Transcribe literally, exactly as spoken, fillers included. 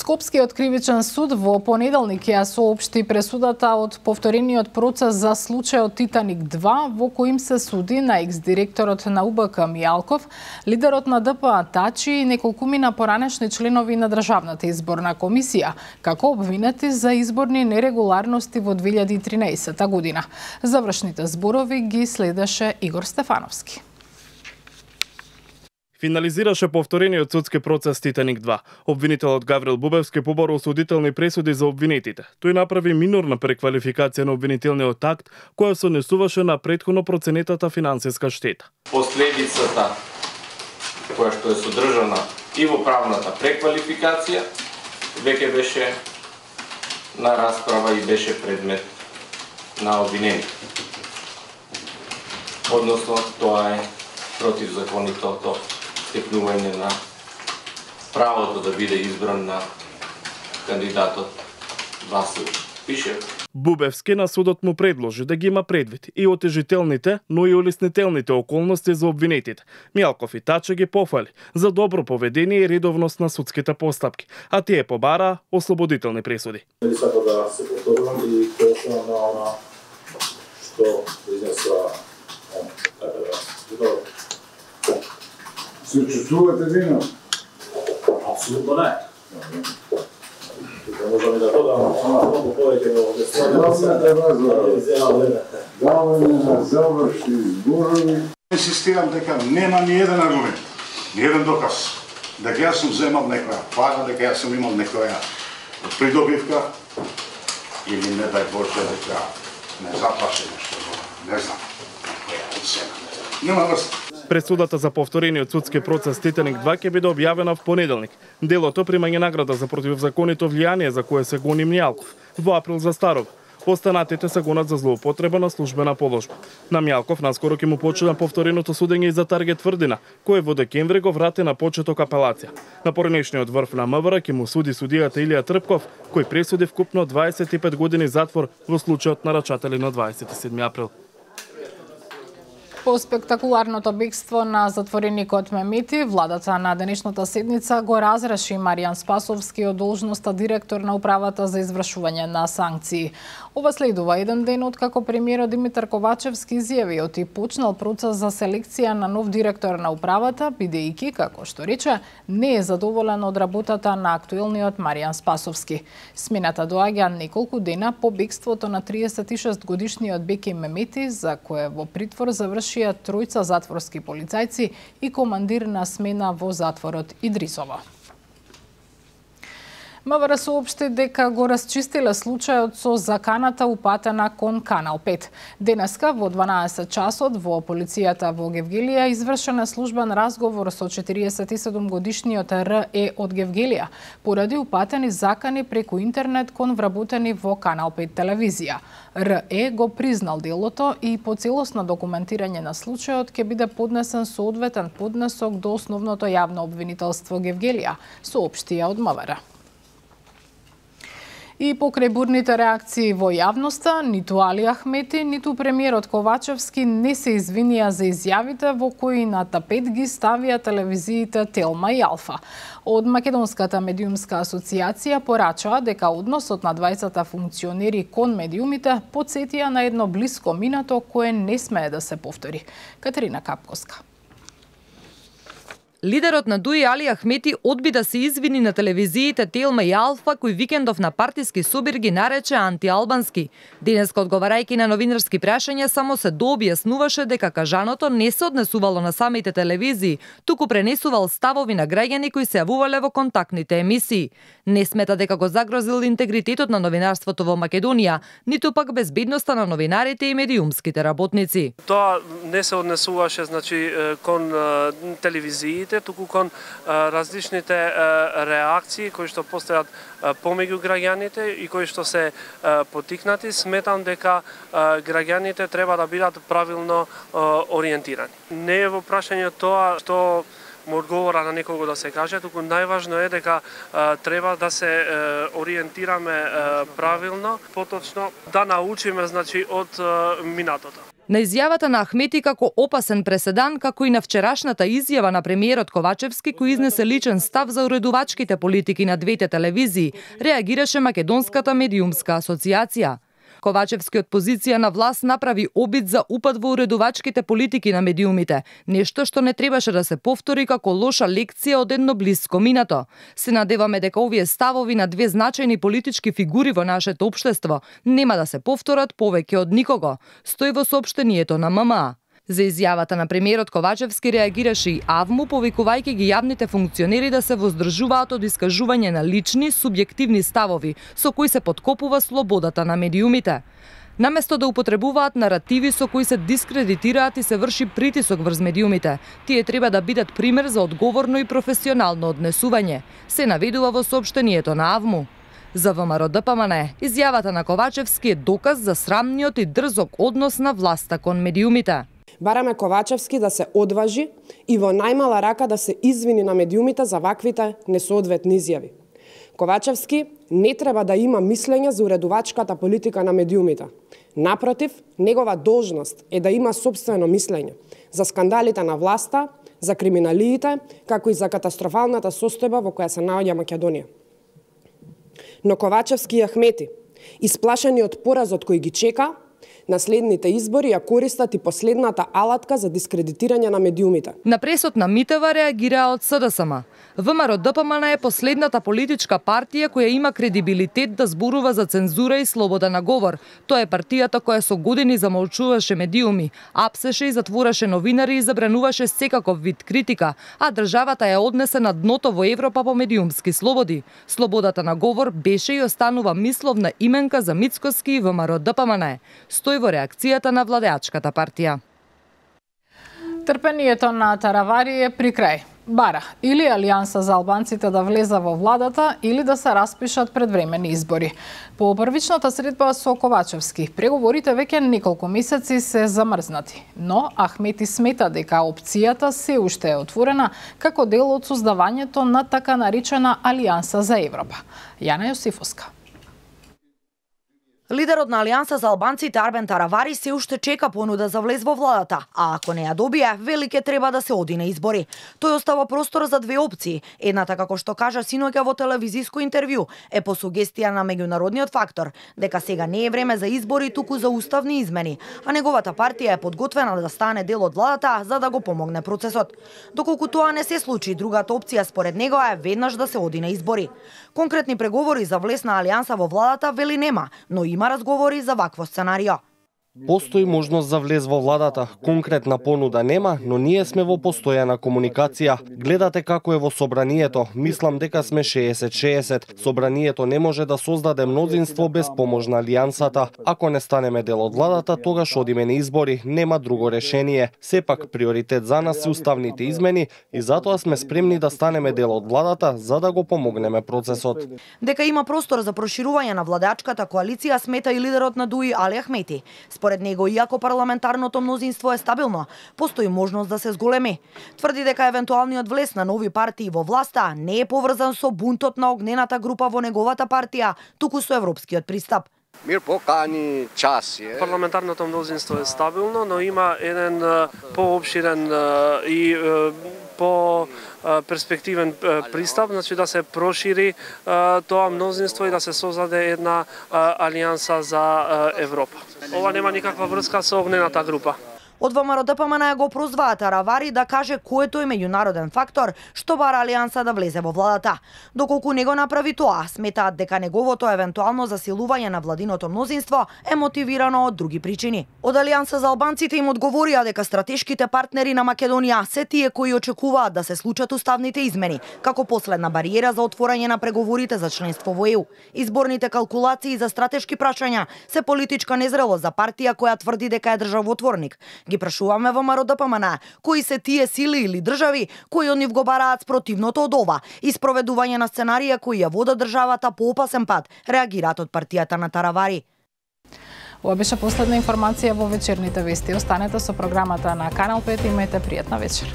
Скопскиот кривичен суд во понеделник ја соопшти пресудата од повторениот процес за случајот Титаник два, во кој им се суди на екс-директорот на У Б К Мијалков, лидерот на Д П А Тачи и неколкумина поранешни членови на Државната изборна комисија, како обвинети за изборни нерегуларности во две илјади и тринаесета година. Завршните зборови ги следеше Игор Стефановски. Финализираше повторениот судски процес Титаник два. Обвинителот Гаврил Бубевски поборил осудителни пресуди за обвинетите. Тој направи минорна преквалификација на обвинителниот акт, која се однесуваше на претходно проценетата финансиска штета. Последицата која што е содржана и во правната преквалификација веќе беше на расправа и беше предмет на обвинение. Односно, тоа е противзаконитото стекнување на правото да биде избран на кандидатот Васил Пишев. Бубевски на судот му предложи да ги има предвид и отежителните, но и улеснителните околности за обвинетите. Мијалков и Таче ги пофали за добро поведение и редовност на судските постапки, а тие побараа ослободителни пресуди. Не сакам да се повторувам и точно на она што изнесла така да. Се чувствувате вино? Апсолутно не. Тука можеме да додам многу повеќе во Даваме даваме на завршни зборови. Инсистирам дека нема ни еден аргумент, ни еден доказ дека јас сум земал некоја пара, дека јас сум имал некоја придобивка или не дај Боже дека не заплаше нешто, не знам, некоја цена. Нема врста. Пресудата за повторениот судски процес Титаник два ќе биде објавена в понеделник. Делото примање награда за противзаконито влијание за кое се гони Мијалков во април за Старов. Останатите се гонат за злоупотреба на службена положба. На Мијалков наскоро ќе му почина повтореното судење и за Таргет Тврдина, кој во декември го врати на почеток апелација. На поранешниот врв на М В Р ќе му суди судијата Илија Трпков, кој пресуди вкупно дваесет и пет години затвор во случајот на рачатели на дваесет и седми април. По спектакуларното бегство на затвореникот Мемети, владата на денешната седница го разреши Маријан Спасовски од должноста директор на управата за извршување на санкции. Ова следува еден ден откако премиерот Димитар Ковачевски изјавиот и почнал процес за селекција на нов директор на управата, бидејќи, како што рече, не е задоволен од работата на актуелниот Маријан Спасовски. Смената доаѓа неколку дена по бегството на триесет и шест годишниот Беки Мемети, за кое во притвор заврши тројца затворски полицајци и командир на смена во затворот Идрисово. М В Р соопшти дека го расчистиле случајот со заканата упатена кон Канал пет. Денеска во дванаесет часот во полицијата во Гевгелија извршен службен разговор со четириесет и седум годишниот Р Е од Гевгелија поради упатени закани преку интернет кон вработени во Канал пет телевизија. Р Е го признал делото и по целосно документирање на случајот ќе биде поднесен соодветен поднесок до основното јавно обвинителство Гевгелија, соопштија од М В Р. И покрај бурните реакции во јавноста, ниту Али Ахмети, ниту премиерот Ковачевски не се извинија за изјавите во кои на тапет ги ставија телевизиите Телма и Алфа. Од Македонската медиумска асоциација порачаа дека односот на двајцата функционери кон медиумите потсетија на едно блиско минато кое не смее да се повтори. Катерина Капковска. Лидерот на ДУИ Али Ахмети одби да се извини на телевизиите Телма и Алфа, кој викендов на партиски собир ги нарече антиалбански. Денеска одговарајќи на новинарски прашања само се дообјаснуваше дека кажаното не се однесувало на самите телевизии, туку пренесувал ставови на граѓани кои се јавувале во контактните емисии. Не смета дека го загрозил интегритетот на новинарството во Македонија, ниту пак безбедноста на новинарите и медиумските работници. Тоа не се однесуваше значи кон телевизиите, туку кон а, различните а, реакции кои што постојат а, помеѓу граѓаните и кои што се а, потикнати. Сметам дека а, граѓаните треба да бидат правилно а, ориентирани. Не е во прашање тоа што му одговора на некого да се каже, туку најважно е дека а, треба да се а, ориентираме а, правилно, поточно да научиме значи од а, минатото. На изјавата на Ахмети како опасен преседан, како и на вчерашната изјава на премиерот Ковачевски кој изнесе личен став за уредувачките политики на двете телевизии, реагираше Македонската медиумска асоциација. Ковачевски од позиција на власт направи обид за упад во уредувачките политики на медиумите, нешто што не требаше да се повтори како лоша лекција од едно блиско минато. Се надеваме дека овие ставови на две значајни политички фигури во нашето општество нема да се повторат повеќе од никого, стои во соопштението на М М А. За изјавата на премиерот Ковачевски реагираше и АВМУ, повикувајќи ги јавните функционери да се воздржуваат од искажување на лични, субјективни ставови, со кои се подкопува слободата на медиумите. Наместо да употребуваат наративи со кои се дискредитираат и се врши притисок врз медиумите, тие треба да бидат пример за одговорно и професионално однесување, се наведува во соопштението на АВМУ. За ВМРО Д П М Н, изјавата на Ковачевски е доказ за срамниот и дрзок однос на власта кон медиумите. Бараме Ковачевски да се одважи и во најмала рака да се извини на медиумите за ваквите несоодветни изјави. Ковачевски не треба да има мислење за уредувачката политика на медиумите. Напротив, негова должност е да има сопствено мислење за скандалите на власта, за криминалиите, како и за катастрофалната состојба во која се наоѓа Македонија. Но Ковачевски и Ахмети, исплашени од поразот кој ги чека, на следните избори ја користат и последната алатка за дискредитирање на медиумите. На пресот на Митева реагираа од С Д С М. ВМРО Д П М Н е последната политичка партија која има кредибилитет да зборува за цензура и слобода на говор. Тоа е партијата која со години замолчуваше медиуми, апсеше и затвораше новинари и забрануваше секаков вид критика, а државата ја однесе на дното во Европа по медиумски слободи. Слободата на говор беше и останува мисловна именка за Мицкоски и ВМРО Д П М Н. Стои во реакцијата на владеачката партија. Трпението на Таравари е при крај. Бара или Алијанса за албанците да влеза во владата или да се распишат предвремени избори. По првичната средба со Ковачевски, преговорите веќе неколку месеци се замрзнати, но Ахмети смета дека опцијата се уште е отворена како дел од создавањето на така наречена Алијанса за Европа. Јана Јосифовска. Лидерот на Алијанса за албанците Арбен Таравари се уште чека понуда за влез во владата, а ако не ја добие, вели ке треба да се оди на избори. Тој остава простор за две опции. Едната, како што кажа синоќа во телевизиско интервју, е по сугестија на меѓународниот фактор, дека сега не е време за избори, туку за уставни измени, а неговата партија е подготвена да стане дел од владата за да го помогне процесот. Доколку тоа не се случи, другата опција според него е веднаш да се оди на избори. Конкретни преговори за влез на Алијанса во владата вели нема, но има разговори за вакво сценарио. Постои можност за влез во владата. Конкретна понуда нема, но ние сме во постојана комуникација. Гледате како е во собранието. Мислам дека сме шеесет шеесет. Собранието не може да создаде мнозинство без помош на Алијансата. Ако не станеме дел од владата, тогаш одиме на избори. Нема друго решение. Сепак приоритет за нас се уставните измени и затоа сме спремни да станеме дел од владата за да го помогнеме процесот. Дека има простор за проширување на владеачката коалиција смета и лидерот на ДУИ Али Ахмети. Според него, иако парламентарното мнозинство е стабилно, постои можност да се зголеми. Тврди дека евентуалниот влез на нови партии во власта не е поврзан со бунтот на огнената група во неговата партија, туку со европскиот пристап. Мир покани час е. Парламентарното мнозинство е стабилно, но има еден поопширен и по перспективен пристап, значи да се прошири тоа мнозинство и да се создаде една алијанса за Европа. Ова нема никаква врска со огнената група. Од ВМРО Д П М Н го прозваа Таравари да каже кој е тој меѓународен фактор што бара Алијанса да влезе во владата. Доколку не го направи тоа, сметаат дека неговото евентуално засилување на владиното мнозинство е мотивирано од други причини. Од Алијанса за албанците им одговорија дека стратешките партнери на Македонија се тие кои очекуваат да се случат уставните измени, како последна бариера за отворање на преговорите за членство во Е У. Изборните калкулации за стратешки прашања се политичка незрелост за партија која тврди дека е државотворник. Ги прашуваме во ВМРО Д П М Н кои се тие сили или држави кои од нив го бараат спротивното од ова и спроведување на сценарија кои ја водат државата по опасен пат, реагираат од партијата на Таравари. Ова беше последна информација во вечерните вести. Останете со програмата на Канал пет и имајте пријатна вечер.